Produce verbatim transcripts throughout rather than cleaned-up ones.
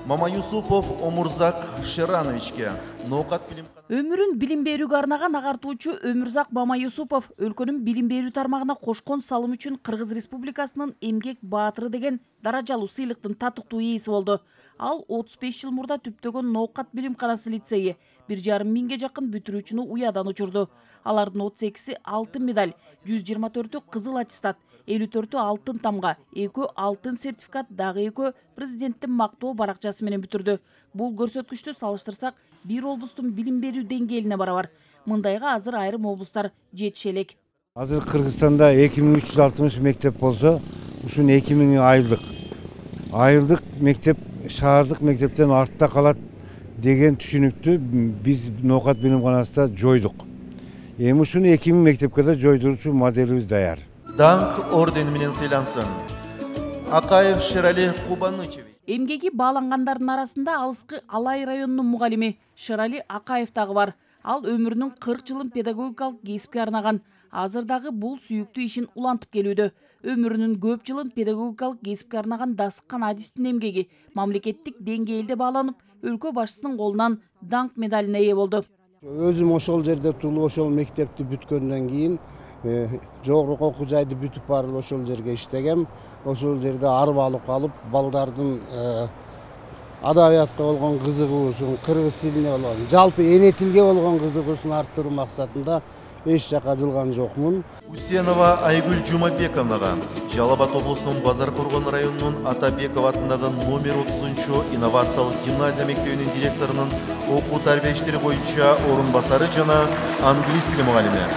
Мамаюсупов Омурзак Шерановичке ноокат билим Өмүрүн билим берүүгө арнаган агартуучу Өмүрзак Мамаюсупов өлкөнүн билим берүү тармагына кошкон салым үчүн Кыргыз Республикасынын эмгек баатыры деген даражалуу сыйлыктын татыктуу ээси болду. Ал отуз беш жыл мурда түптөгөн ноокат билимканасы лицейи бир жарым миңге жакын бүтүрүүчүнү уядан учурду. Алардын отуз экиси алтын медаль, жүз жыйырма төртү кызыл аттестат, элүү төртү алтын тамга, экөө алтын сертификат, дагы экөө президенттин мактоо баракчасы менен бүтүрдү. Бул көрсөткүчтү салыштырсак, бир облустун билим берүү деңгээлине барабар. Мындайга азыр айрым облустар жетише элек. Азыр Кыргызстанда эки миң үч жүз алтымыш мектеп болсо, ушун эки миңи айылдык. Айылдык мектеп шаардык мектептен артта калат деген түшүнүктү биз ноокат билимканасында жойдук. Эми ушуну эки миң мектепке да жойдуруучу моделибиз даяр. Данк ордени менен сыйлансын. Акаев Шерали Кубанычевич. Эмгеги баалангандардын арасында алыскы Алай районунун мугалими Шерали Акаев дагы бар. Ал өмүрүнүн кырк жылын педагогикалык кесипке арнаган. Азыр дагы бул сүйүктүү ишин улантып келүүдө. Өмүрүнүн көп жылын педагогикалык кесипке арнаган Дасыккан Адистин эмгеги мамлекеттик деңгээлде бааланып, өлкө башчысынын колунан данк медалине ээ болду. Өзүм ошол жерде туулуп, ошол мектепти бүткөндөн кийин жогорку окуу жайды бүтүп барып ошол жерге иштегем. Ошол жерде арбалык алып, балдардын адабиятка болгон кызыгуусун, кыргыз тилине болгон, жалпы эне тилге болгон кызыгуусун арттыруу максатында эч жака жылган жокмун. Усенова Айгүл Жумабековнага Жалал Абад облусунун Базар Коргон районунун Атабеков атындагы номер отузунчу инновациялык гимназия мектебинин директорунун окуу тарбия иштери боюнча орун басары жана англис тили мугалими.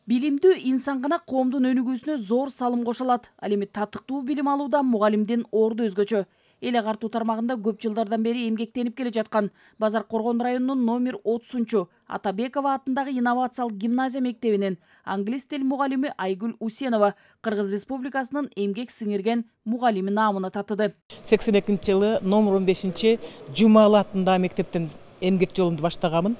Билимдүү инсан гана коомдун өнүгүүсүнө зор салым кошо алат. Ал эми татыктуу билим алууда мугалимдин орду өзгөчө. Эл агартуу тармагында көп жылдардан бери эмгектенип келе жаткан Базар Коргон районунун номер отузунчу Атабекова атындагы инновациялык гимназия мектебинин англис тил мугалими Айгүл Усенова Кыргыз Республикасынын эмгек сиңирген мугалими наамына татыды. сексен экинчи жылы номер он бешинчи Жумалы атындагы мектептен эмгек жолумду баштаганмын.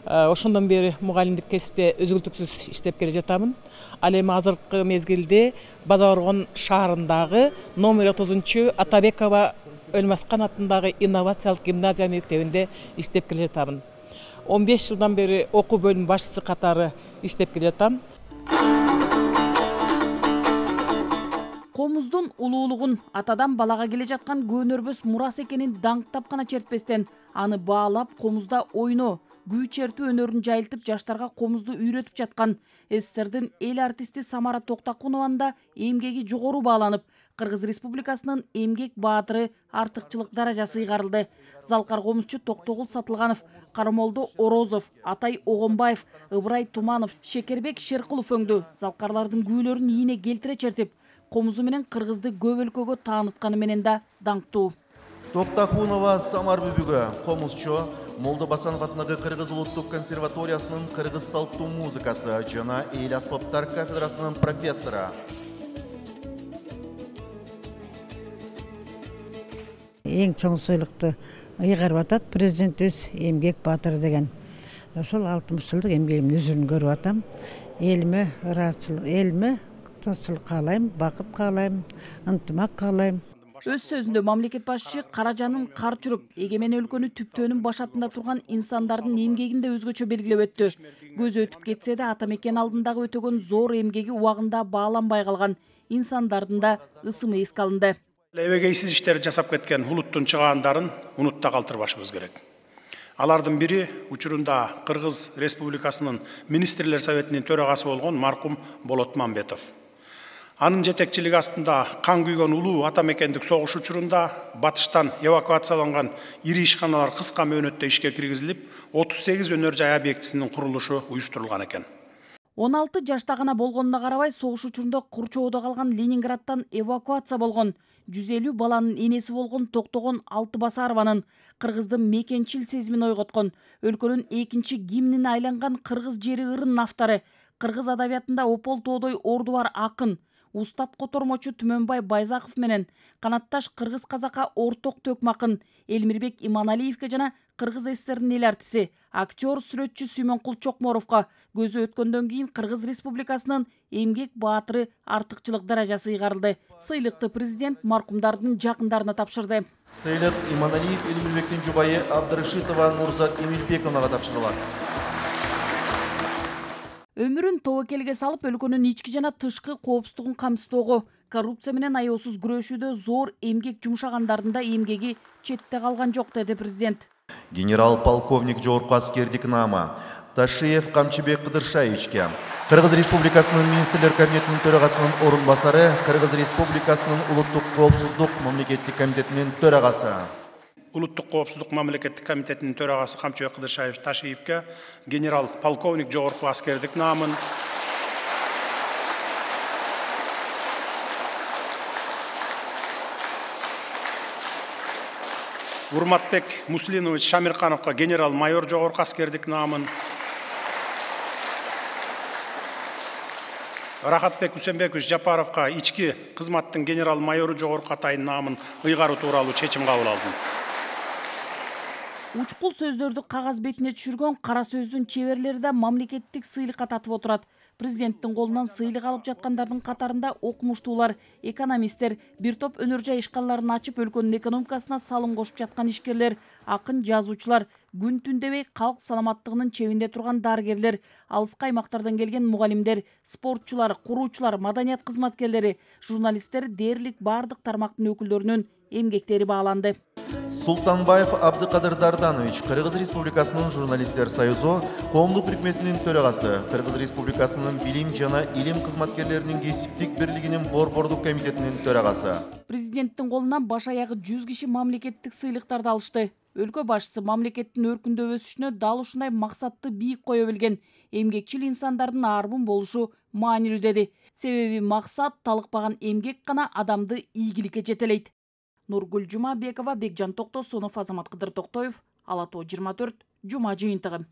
Ошондон бери мугалимдик кесипте өзгөлтүксүз иштеп келе жатамын. Ал эми азыркы мезгилде Базар Коргон шаарындагы номер отузунчу Атабекова Өлмаскан атындагы инновациялык гимназия мектебинде иштеп келе жатамын. он беш жылдан бери окуу бөлүм башчысы катары иштеп келе жатам. Комуздун улуулугун атадан балага келе жаткан көөнөрбөс мурас экенин даңктап гана чертпестен, аны баалап комузда ойноо, күү чертүү өнөрүн жайылтып жаштарга комузду үйрөтүп жаткан СССРдин эл артисти Самара Токтакунованын да эмгеги жогору бааланып, Кыргыз Республикасынын эмгек баатыры артыкчылык даражасы ыйгарылды. Залкар комузчу Токтогул Сатылганов, Карамолдо Орозов, Атай Огонбаев, Ыбырай Туманов, Шекербек Шеркулов өңдү. Залкарлардын күүлөрүн ийине келтире чертип, комузу менен кыргызды көп өлкөгө таанытканы менен да даңктуу. Токтакунова Самар бүбүгө комузчу Молдо Басанов атындагы Кыргыз улуттук консерваториясынын кыргыз салттуу музыкасы жана эл аспаптар кафедрасынын профессору. Эң чоң сыйлыкты ыйгарып атат президент өз эмгек баатыры деген. Ошол алтымыш жылдык эмгегимдин үзүрүн көрүп атам. Элиме ыраазычылык, элиме тынччылык каалайм, бакыт каалайм, ынтымак каалайм. Өз сөзүндө мамлекет башчысы каражанын кар чүрүп, эгемен өлкөнү түптөөнүн башатында турган инсандардын эмгегин да өзгөчө белгилеп өттү. Көз өтүп кетсе да ата мекен алдындагы өтөгөн зор эмгеги убагында бааланбай калган инсандардын да ысымы эске алынды. Эбегейсиз иштер жасап кеткен улуттун чыгаандарын унутта калтырбашыбыз керек. Алардын бири учурунда Кыргыз Республикасынын Министрлер Советинин төрагасы болгон маркум Болот Мамбетов. Анын жетекчилиги астында кан күйгөн улуу ата мекендик согуш учурунда батыштан эвакуацияланган ири ишканалар кыска мөөнөттө ишке киргизилип, отуз сегиз өнөр жай объектисинин курулушу уюштурулган экен. он алты жашта гана болгонуна карабай, согуш учурунда Курчоодо калган Ленинградтан эвакуация болгон жүз элүү баланын энеси болгон Токтогон Алтыбасарованын кыргыздын мекенчил сезимин ойготкон, өлкөнүн экинчи гимнине айланган кыргыз жери ырынын автору, кыргыз адабиятында опол тоодой орду бар акын, Устат котормочу Түмөнбай Байзаков менен канатташ кыргыз казакка орток төкмакын Элмирбек Иманалиевке жана Кыргыз ССРнин эл артиси, актер, сүрөтчү Сүймөнкул Чокморовго көзү өткөндөн кийин Кыргыз Республикасынын эмгек баатыры артыкчылык даражасы ыйгарылды. Сыйлыкты президент маркумдардын жакындарына тапшырды. Сыйлык Иманалиев Элмирбектин жубайы Абдырашитова Нурзат Эмилбековнага тапшырылат. Өмүрүн тобокелге салып, өлкөнүн ички жана тышкы коопсуздугун камсыздоого, коррупция менен аеосуз күрөшүүдө зор эмгек жумшагандардын да эмгеги четте калган жок, деди президент. Генерал-полковник жогорку аскердик наама Ташиев Камчыбек Кыдыршаевичке, Кыргыз Республикасынын министрлер кабинетинин төрагасынын орун басары, Кыргыз Республикасынын улуттук коопсуздук мамлекеттик комитетинин төрагасы. Улуттук коопсуздук мамлекеттик комитетинин төрагасы Камчыбек Кыдыршаевич Ташиевке генерал-полковник жогорку аскердик наамын, Урматбек Муслинович Шамиркановго генерал-майор жогорку аскердик наамын, Рахатбек Усенбекович Жапаровго ички кызматтын генерал-майору жогорку атайын наамын ыйгаруу тууралуу чечим кабыл алдым. Учкул сөздөрдү кагаз бетине түшүргөн кара сөздүн чеберлери да мамлекеттик сыйлыкка татып отурат. Президенттин колунан сыйлык алып жаткандардын катарында окумуштуулар, экономисттер, бир топ өнөр жай ишканаларын ачып өлкөнүн экономикасына салым кошуп жаткан ишкерлер, акын жазуучулар, күн түн дебей калк саламаттыгынын чебинде турган дарыгерлер, алыскы аймактардан келген мугалимдер, спортчулар, куруучулар, маданият кызматкерлери, журналисттер дээрлик бардык тармактын өкүлдөрүнүн эмгектери бааланды. Султанбаев Абдыкадыр Дарданович, Кыргыз Республикасынын журналисттер союзу коомдук бирикмесинин төрагасы, Кыргыз Республикасынын билим жана илим кызматкерлеринин кесиптик бирлигинин борбордук комитетинин төрагасы. Президенттин колунан баш аягы жүз киши мамлекеттик сыйлыктарды алышты. Өлкө башчысы мамлекеттин өркүндөп өсүшүнө дал ушундай максатты бийик кое билген эмгекчил инсандардын арбын болушу маанилүү, деди. Себеби максат талыкпаган эмгек гана адамды ийгиликке жетелейт. Нургүл Жумабекова, Бекжан Токтосунов, Азамат Кыдыр Токтоев, Ала тоо жыйырма төрт, Жума жыйынтыгы.